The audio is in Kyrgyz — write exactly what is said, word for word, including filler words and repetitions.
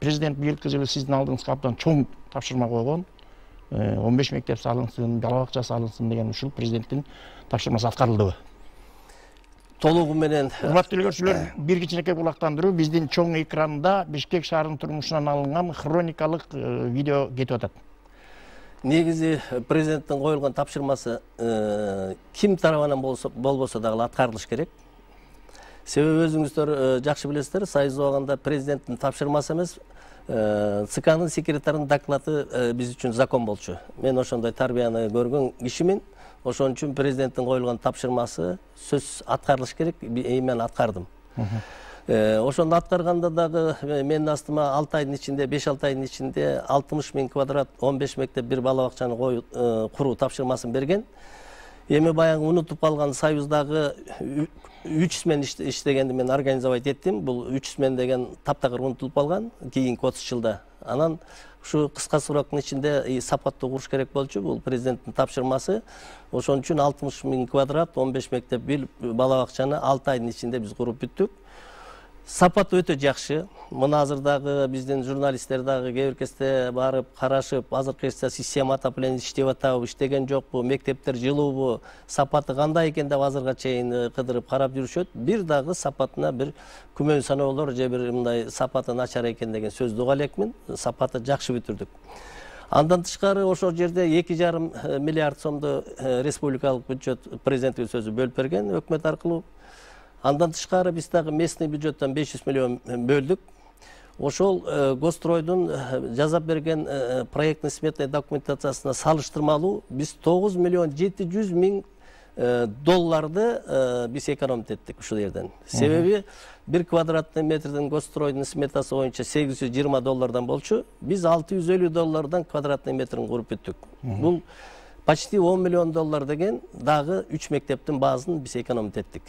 президент быйылкы жылы сиздин алдыңызга абдан чоң тапшырма койгон. он беш мектеп салынсын, бала бакча салынсын деген ушул президенттин тапшырмасы аткарылдыбы? Толугу менен. Урматтуу көрүүчүлөр, бир кичинекей булактандыруу биздин чоң экранда Бишкек шаарынын турмушунан алынган хроникалык видео кетип атат. Негизи президенттин коюлган тапшырмасы ким тарабынан болбосо дагы аткарылыш керек. Себеби өзүңүздөр жакшы билесиздер, Союз убагында президенттин тапшырмасы эмес, ЦКнын секретарынын доклады биз үчүн закон болчу. Мен ошондой тарбияны көргөн кишимин. Ошон үчүн президенттин коюлган тапшырмасы сөзсүз аткарылыш керек, мен аткардым. Ошондо аткарганда дагы менин астыма алты айдын ичинде, беш алты айдын ичинде алтымыш миң квадрат он беш мектеп, бир бала бакчаны куруу тапшырмасын берген. Эми баягы унутуп калган Союздагы үч смен иштегенди мен организовать эттим. Бул үч смен деген таптакыр унутулуп калган кийинки отуз жылда. Анан ушу кыска сроктун ичинде сапаттуу куруш керек болчу. Бул президенттин тапшырмасы. Ошон үчүн алтымыш миң квадрат он беш мектеп, бир бала бакчаны алты айдын ичинде биз куруп бүттүк. Сапаты өтө жакшы. Мына азыр дагы биздин журналисттер дагы кээ бир кезде барып карашып, азыркы кезде система отопления иштеп атабы, иштеген жокпу, мектептер жылуубу, сапаты кандай экен деп азырга чейин кыдырып карап жүрүшөт. Бир дагы сапатына бир күмөн саноолор же бир мындай сапаты начар экен деген сөздү уга элекмин. Сапаты жакшы бүтүрдүк. Андан тышкары ошол жерде эки жарым миллиард сомду республикалык бюджет президенттин сөзү бөлүп берген өкмөт аркылуу. Андан тышкары биз дагы местный бюджеттен беш жүз миллион бөлдүк. Ошол Госстройдун жазап берген проектный сметный документациясына салыштырмалуу биз тогуз миллион жети жүз миң долларды биз экономить эттик ушул жерден. Себеби бир квадратный метрдин Госстройдун сметасы боюнча сегиз жүз жыйырма доллардан болчу. Биз алты жүз элүү доллардан квадратный метрин куруп бүттүк. Бул почти он миллион доллар деген дагы үч мектептин баазын биз экономить эттик.